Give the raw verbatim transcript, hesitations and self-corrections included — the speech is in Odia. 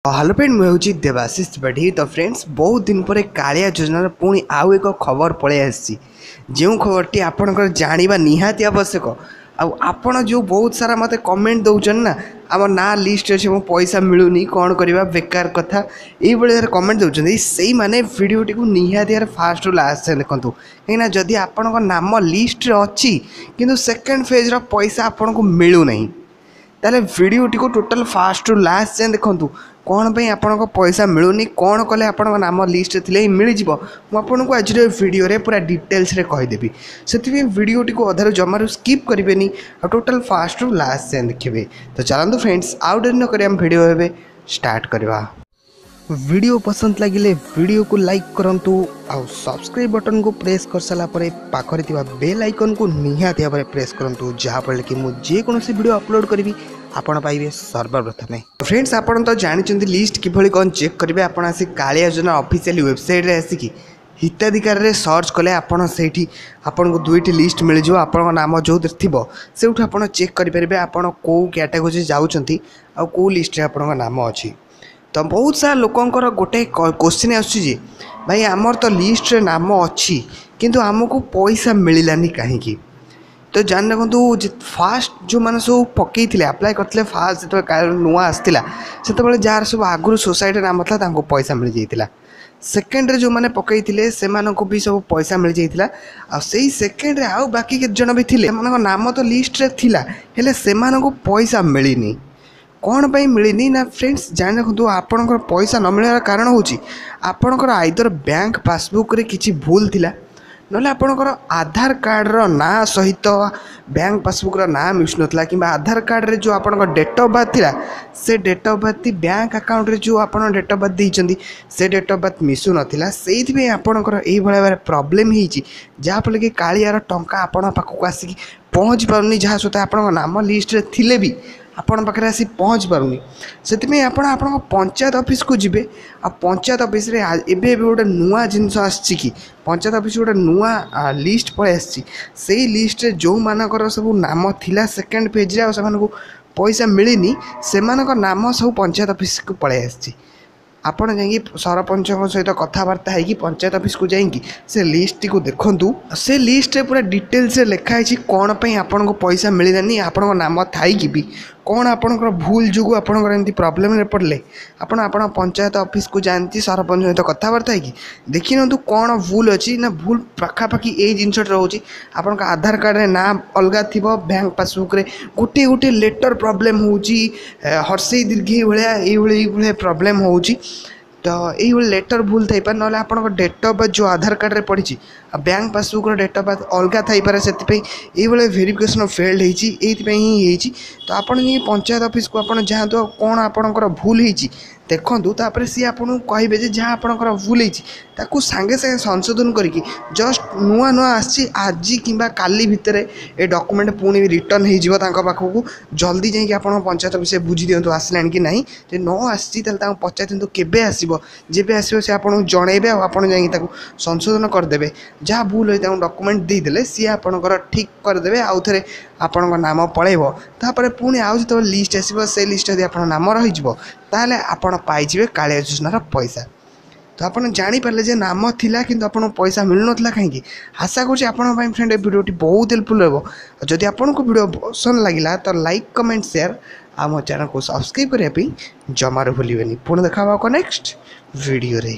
ହ୍ୟାଲୋ ଫ୍ରେଣ୍ଡ ମୁଁ ହେଉଛି ଦେବାଶିଷ ତ୍ରିପାଠୀ ତ ଫ୍ରେଣ୍ଡସ୍ ବହୁତ ଦିନ ପରେ କାଳିଆ ଯୋଜନାର ପୁଣି ଆଉ ଏକ ଖବର ପଳେଇ ଆସିଛି ଯେଉଁ ଖବରଟି ଆପଣଙ୍କର ଜାଣିବା ନିହାତି ଆବଶ୍ୟକ ଆଉ ଆପଣ ଯେଉଁ ବହୁତ ସାରା ମୋତେ କମେଣ୍ଟ ଦେଉଛନ୍ତି ନା ଆମ ନାଁ ଲିଷ୍ଟ ଅଛି ଏବଂ ପଇସା ମିଳୁନି କ'ଣ କରିବା ବେକାର କଥା ଏଇଭଳି ଭାବରେ କମେଣ୍ଟ ଦେଉଛନ୍ତି ସେଇମାନେ ଭିଡ଼ିଓଟିକୁ ନିହାତି ଭାବରେ ଫାଷ୍ଟରୁ ଲାଷ୍ଟ ଯାଏଁ ଦେଖନ୍ତୁ କାହିଁକିନା ଯଦି ଆପଣଙ୍କ ନାମ ଲିଷ୍ଟରେ ଅଛି କିନ୍ତୁ ସେକେଣ୍ଡ ଫେଜ୍ର ପଇସା ଆପଣଙ୍କୁ ମିଳୁନାହିଁ ତାହେଲେ ଭିଡ଼ିଓଟିକୁ ଟୋଟାଲ୍ ଫାଷ୍ଟରୁ ଲାଷ୍ଟ ଯାଏଁ ଦେଖନ୍ତୁ କ'ଣ ପାଇଁ ଆପଣଙ୍କ ପଇସା ମିଳୁନି କ'ଣ କଲେ ଆପଣଙ୍କ ନାମ ଲିଷ୍ଟରେ ଥିଲେ ହିଁ ମିଳିଯିବ ମୁଁ ଆପଣଙ୍କୁ ଆଜିର ଏ ଭିଡ଼ିଓରେ ପୁରା ଡିଟେଲ୍ସରେ କହିଦେବି ସେଥିପାଇଁ ଭିଡ଼ିଓଟିକୁ ଅଧାରୁ ଜମାରୁ ସ୍କିପ୍ କରିବେନି ଆଉ ଟୋଟାଲ୍ ଫାଷ୍ଟରୁ ଲାଷ୍ଟ ଯାଏଁ ଦେଖିବେ ତ ଚାଲନ୍ତୁ ଫ୍ରେଣ୍ଡସ୍ ଆଉ ଡେରି ନ କରି ଆମ ଭିଡ଼ିଓ ଏବେ ଷ୍ଟାର୍ଟ କରିବା ଭିଡ଼ିଓ ପସନ୍ଦ ଲାଗିଲେ ଭିଡ଼ିଓକୁ ଲାଇକ୍ କରନ୍ତୁ ଆଉ ସବସ୍କ୍ରାଇବ୍ ବଟନ୍କୁ ପ୍ରେସ୍ କରିସାରିଲା ପରେ ପାଖରେ ଥିବା ବେଲ୍ ଆଇକନ୍କୁ ନିହାତି ଭାବରେ ପ୍ରେସ୍ କରନ୍ତୁ ଯାହାଫଳରେ କି ମୁଁ ଯେକୌଣସି ଭିଡ଼ିଓ ଅପଲୋଡ଼ କରିବି ଆପଣ ପାଇବେ ସର୍ବପ୍ରଥମେ ଫ୍ରେଣ୍ଡସ୍ ଆପଣ ତ ଜାଣିଛନ୍ତି ଲିଷ୍ଟ କିଭଳି କ'ଣ ଚେକ୍ କରିବେ ଆପଣ ଆସି କାଳିଆ ଯୋଜନା ଅଫିସିଆଲି ୱେବସାଇଟ୍ରେ ଆସିକି ହିତାଧିକାରରେ ସର୍ଚ୍ଚ କଲେ ଆପଣ ସେଇଠି ଆପଣଙ୍କୁ ଦୁଇଟି ଲିଷ୍ଟ ମିଳିଯିବ ଆପଣଙ୍କ ନାମ ଯେଉଁଥିରେ ଥିବ ସେଇଠୁ ଆପଣ ଚେକ୍ କରିପାରିବେ ଆପଣ କେଉଁ କ୍ୟାଟାଗୋରୀ ଯାଉଛନ୍ତି ଆଉ କେଉଁ ଲିଷ୍ଟରେ ଆପଣଙ୍କ ନାମ ଅଛି ତ ବହୁତ ସାରା ଲୋକଙ୍କର ଗୋଟେ କୋଶ୍ଚିନ୍ ଆସୁଛି ଯେ ଭାଇ ଆମର ତ ଲିଷ୍ଟରେ ନାମ ଅଛି କିନ୍ତୁ ଆମକୁ ପଇସା ମିଳିଲାନି କାହିଁକି ତ ଜାଣି ରଖନ୍ତୁ ଯେ ଫାଷ୍ଟ ଯେଉଁମାନେ ସବୁ ପକାଇଥିଲେ ଆପ୍ଲାଏ କରିଥିଲେ ଫାଷ୍ଟ ଯେତେବେଳେ ନୂଆ ଆସିଥିଲା ସେତେବେଳେ ଯାହାର ସବୁ ଆଗରୁ ସୋସାଇଟିରେ ନାମ ଥିଲା ତାଙ୍କୁ ପଇସା ମିଳିଯାଇଥିଲା ସେକେଣ୍ଡରେ ଯେଉଁମାନେ ପକାଇଥିଲେ ସେମାନଙ୍କୁ ବି ସବୁ ପଇସା ମିଳିଯାଇଥିଲା ଆଉ ସେଇ ସେକେଣ୍ଡରେ ଆଉ ବାକି କେତେ ଜଣ ବି ଥିଲେ ସେମାନଙ୍କ ନାମ ତ ଲିଷ୍ଟରେ ଥିଲା ହେଲେ ସେମାନଙ୍କୁ ପଇସା ମିଳିନି କ'ଣ ପାଇଁ ମିଳିନି ନା ଫ୍ରେଣ୍ଡସ୍ ଜାଣି ରଖନ୍ତୁ ଆପଣଙ୍କର ପଇସା ନ ମିଳିବାର କାରଣ ହେଉଛି ଆପଣଙ୍କର ଆଇଦର ବ୍ୟାଙ୍କ ପାସବୁକ୍ରେ କିଛି ଭୁଲ ଥିଲା ନହେଲେ ଆପଣଙ୍କର ଆଧାର କାର୍ଡ଼ର ନାଁ ସହିତ ବ୍ୟାଙ୍କ ପାସବୁକ୍ର ନାଁ ମିଶୁନଥିଲା କିମ୍ବା ଆଧାର କାର୍ଡ଼ରେ ଯେଉଁ ଆପଣଙ୍କ ଡେଟ୍ ଅଫ୍ ବାର୍ଥ ଥିଲା ସେ ଡେଟ୍ ଅଫ୍ ବାର୍ଥ ବ୍ୟାଙ୍କ ଆକାଉଣ୍ଟରେ ଯେଉଁ ଆପଣ ଡେଟ୍ ଅଫ୍ ବାର୍ଥ ଦେଇଛନ୍ତି ସେ ଡେଟ୍ ଅଫ୍ ବାର୍ଥ ମିଶୁନଥିଲା ସେଇଥିପାଇଁ ଆପଣଙ୍କର ଏଇଭଳିଆ ଭାବରେ ପ୍ରୋବ୍ଲେମ୍ ହେଇଛି ଯାହାଫଳରେ କି କାଳିଆର ଟଙ୍କା ଆପଣଙ୍କ ପାଖକୁ ଆସିକି ପହଞ୍ଚି ପାରୁନି ଯାହା ସହିତ ଆପଣଙ୍କ ନାମ ଲିଷ୍ଟରେ ଥିଲେ ବି ଆପଣଙ୍କ ପାଖରେ ଆସି ପହଞ୍ଚି ପାରୁନି ସେଥିପାଇଁ ଆପଣ ଆପଣଙ୍କ ପଞ୍ଚାୟତ ଅଫିସକୁ ଯିବେ ଆଉ ପଞ୍ଚାୟତ ଅଫିସରେ ଏବେ ଏବେ ଗୋଟେ ନୂଆ ଜିନିଷ ଆସିଛି କି ପଞ୍ଚାୟତ ଅଫିସ ଗୋଟେ ନୂଆ ଲିଷ୍ଟ ପଳେଇ ଆସିଛି ସେଇ ଲିଷ୍ଟରେ ଯେଉଁମାନଙ୍କର ସବୁ ନାମ ଥିଲା ସେକେଣ୍ଡ ପେଜ୍ରେ ଆଉ ସେମାନଙ୍କୁ ପଇସା ମିଳିନି ସେମାନଙ୍କ ନାମ ସବୁ ପଞ୍ଚାୟତ ଅଫିସକୁ ପଳେଇ ଆସିଛି ଆପଣ ଯାଇକି ସରପଞ୍ଚଙ୍କ ସହିତ କଥାବାର୍ତ୍ତା ହେଇକି ପଞ୍ଚାୟତ ଅଫିସକୁ ଯାଇକି ସେ ଲିଷ୍ଟଟିକୁ ଦେଖନ୍ତୁ ସେ ଲିଷ୍ଟରେ ପୁରା ଡିଟେଲ୍ସରେ ଲେଖା ହେଇଛି କ'ଣ ପାଇଁ ଆପଣଙ୍କୁ ପଇସା ମିଳିଲାନି ଆପଣଙ୍କ ନାମ ଥାଇକି ବି କ'ଣ ଆପଣଙ୍କର ଭୁଲ ଯୋଗୁଁ ଆପଣଙ୍କର ଏମିତି ପ୍ରୋବ୍ଲେମରେ ପଡ଼ିଲେ ଆପଣ ଆପଣ ପଞ୍ଚାୟତ ଅଫିସକୁ ଯାଆନ୍ତି ସରପଞ୍ଚ ସହିତ କଥାବାର୍ତ୍ତା ହେଇକି ଦେଖିନିଅନ୍ତୁ କ'ଣ ଭୁଲ ଅଛି ନା ଭୁଲ ପାଖାପାଖି ଏଇ ଜିନିଷଟା ରହୁଛି ଆପଣଙ୍କ ଆଧାର କାର୍ଡ଼ରେ ନାଁ ଅଲଗା ଥିବ ବ୍ୟାଙ୍କ ପାସବୁକ୍ରେ ଗୋଟିଏ ଗୋଟିଏ ଲେଟର୍ ପ୍ରୋବ୍ଲେମ୍ ହେଉଛି ହର୍ସେଇ ଦୀର୍ଘେଇ ଭଳିଆ ଏଇଭଳି ଏଇଭଳିଆ ପ୍ରୋବ୍ଲେମ୍ ହେଉଛି ତ ଏଇଭଳି ଲେଟର୍ ଭୁଲ ଥାଇପାରେ ନହେଲେ ଆପଣଙ୍କ ଡେଟ୍ ଅଫ୍ ବାର୍ଥ ଯେଉଁ ଆଧାର କାର୍ଡ଼ରେ ପଡ଼ିଛି ଆଉ ବ୍ୟାଙ୍କ ପାସବୁକ୍ର ଡେଟ୍ ଅଫ୍ ବାର୍ଥ ଅଲଗା ଥାଇପାରେ ସେଥିପାଇଁ ଏଇଭଳିଆ ଭେରିଫିକେସନ୍ ଫେଲ୍ଡ ହେଇଛି ଏଇଥିପାଇଁ ହିଁ ହେଇଛି ତ ଆପଣ ଯାଇକି ପଞ୍ଚାୟତ ଅଫିସକୁ ଆପଣ ଯାଆନ୍ତୁ ଆଉ କ'ଣ ଆପଣଙ୍କର ଭୁଲ ହେଇଛି ଦେଖନ୍ତୁ ତାପରେ ସିଏ ଆପଣଙ୍କୁ କହିବେ ଯେ ଯାହା ଆପଣଙ୍କର ଭୁଲ ହେଇଛି ତାକୁ ସାଙ୍ଗେ ସାଙ୍ଗେ ସଂଶୋଧନ କରିକି ଜଷ୍ଟ ନୂଆ ନୂଆ ଆସିଛି ଆଜି କିମ୍ବା କାଲି ଭିତରେ ଏ ଡକୁମେଣ୍ଟ ପୁଣି ରିଟର୍ନ ହେଇଯିବ ତାଙ୍କ ପାଖକୁ ଜଲ୍ଦି ଯାଇକି ଆପଣ ପଞ୍ଚାୟତ ଅଫିସରେ ବୁଝି ଦିଅନ୍ତୁ ଆସିଲାଣି କି ନାହିଁ ଯଦି ନ ଆସିଛି ତାହେଲେ ତାଙ୍କୁ ପଚାରି ଦିଅନ୍ତୁ କେବେ ଆସିବ ଯେବେ ଆସିବ ସେ ଆପଣଙ୍କୁ ଜଣେଇବେ ଆଉ ଆପଣ ଯାଇକି ତାକୁ ସଂଶୋଧନ କରିଦେବେ ଯାହା ଭୁଲ ହେଇ ତାଙ୍କୁ ଡକୁମେଣ୍ଟ ଦେଇଦେଲେ ସିଏ ଆପଣଙ୍କର ଠିକ୍ କରିଦେବେ ଆଉ ଥରେ ଆପଣଙ୍କ ନାମ ପଳେଇବ ତାପରେ ପୁଣି ଆଉ ଯେତେବେଳେ ଲିଷ୍ଟ ଆସିବ ସେ ଲିଷ୍ଟ ଯଦି ଆପଣଙ୍କ ନାମ ରହିଯିବ ତାହେଲେ ଆପଣ ପାଇଯିବେ କାଳିଆ ଯୋଜନାର ପଇସା ତ ଆପଣ ଜାଣିପାରିଲେ ଯେ ନାମ ଥିଲା କିନ୍ତୁ ଆପଣଙ୍କୁ ପଇସା ମିଳୁନଥିଲା କାହିଁକି ଆଶା କରୁଛି ଆପଣଙ୍କ ପାଇଁ ଫ୍ରେଣ୍ଡ ଏ ଭିଡ଼ିଓଟି ବହୁତ ହେଲ୍ପଫୁଲ୍ ହେବ ଆଉ ଯଦି ଆପଣଙ୍କୁ ଭିଡ଼ିଓ ପସନ୍ଦ ଲାଗିଲା ତ ଲାଇକ୍ କମେଣ୍ଟ ସେୟାର ଆଉ ମୋ ଚ୍ୟାନେଲକୁ ସବସ୍କ୍ରାଇବ୍ କରିବା ପାଇଁ ଜମାରୁ ଭୁଲିବେନି ପୁଣି ଦେଖା ହେବ ନେକ୍ସଟ ଭିଡ଼ିଓରେ